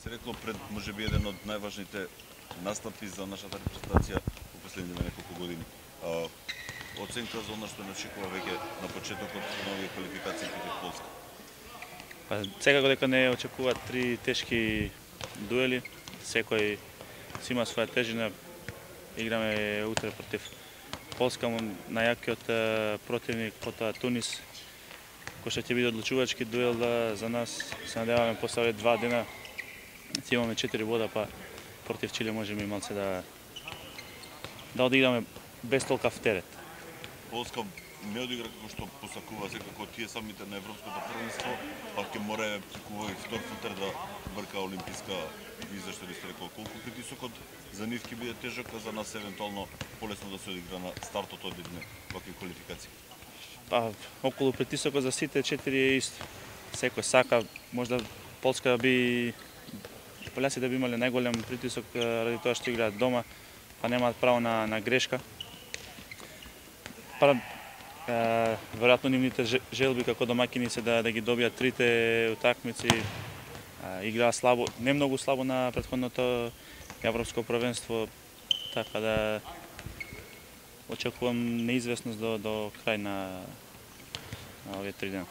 Се рекло пред можеби еден од најважните настапи за нашата репрезентација во последните неколку години. Оценка за она што не очекува веќе на почетокот на овие квалификации против Полска. Секако дека не очекуваат три тешки дуели, секој си има своја тежина. Играме утре против Полска, најакиот противник, потоа Тунис, кој што ќе биде одлучувачки дуел за нас. Се надеваме после овие 2 дена ќе имаме 4 бода, па против Чиле можеме и малце да одиграме без толкав терет. Полска не одигра како што посакува секако тие самите на европското првенство, па ќе мора преку овој втор филтер да брка олимписка виза, што сте рекол. Колку притисокот за нив ќе биде тежок, а за нас евентуално полесно да се одигра на стартот од едни вакви квалификации? Околу притисокот за сите 4 е исто. Секој сака, можда Полска поляците би имале најголем притисок ради тоа што играат дома, па немаат право на грешка. Веројатно нивните желби како домаќини се да ги добијат трите утакмици. Играа слабо, не многу слабо на претходното европско првенство, така да очекувам неизвестност до крај на овие 3 дена.